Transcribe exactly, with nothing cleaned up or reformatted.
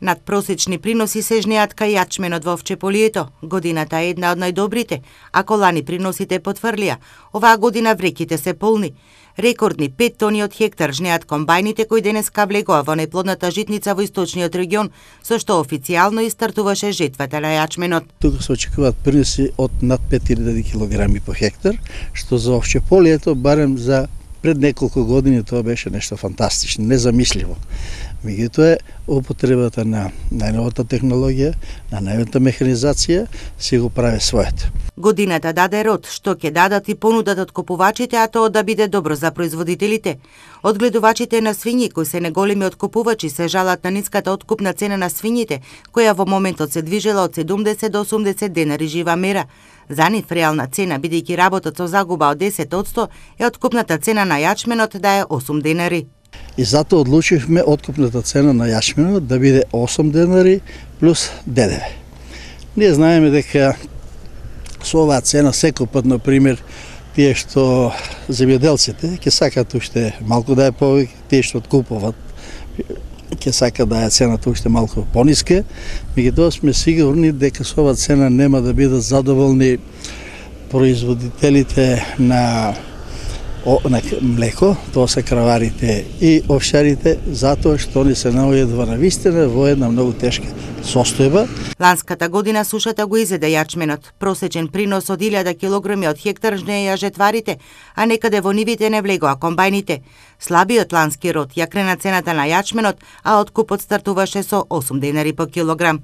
Надпросечни приноси се жнеат кај јачменот во овчеполието. Годината е една од најдобрите, ако лани приносите потврлија. Оваа година вреките се полни. Рекордни пет тони од хектар жнеат комбајните кои денеска влегоа во најплодната житница во источниот регион, со што официјално и стартуваше жетвата на јачменот. Тука се очекуваат приноси од над пет илјади килограми по хектар, што за овчеполието барем за пред неколку години тоа беше нешто фантастично, незамисливо. Меѓутоа, употребата на најновата технологија, на најновата механизација, си го прави своето. Годината даде род, што ќе дадат и понудат од купувачите, а тоа да биде добро за производителите. Одгледувачите на свињи, кои се неголеми откупувачи, се жалат на ниската откупна цена на свињите, која во моментот се движела од седумдесет до осумдесет денари жива мера. За нив реална цена, бидејќи работат со загуба од десет одсто, е откупната цена на јачменот да е осум денари. И затоа одлучивме откупната цена на јачменот да биде осум денари плюс ДДВ. Ние знаеме дека со оваа цена секој пат, например, тие што земјоделците ќе сакаат уште малку да е повеќе, тие што откупуваат ќе сакаат да е цената уште малку пониска, меѓутоа сме сигурни дека со оваа цена нема да бидат задоволни производителите на на млеко, тоа се краварите и овшарите, затоа што они се наоѓаат во навистина во една многу тешка состојба. Ланската година сушата го изеде јачменот. Просечен принос од илјада килограми од хектар жнеја жетварите, а некаде во нивите не влегоа комбајните. Слабиот лански род ја крена цената на јачменот, а откупот стартуваше со осум денари по килограм.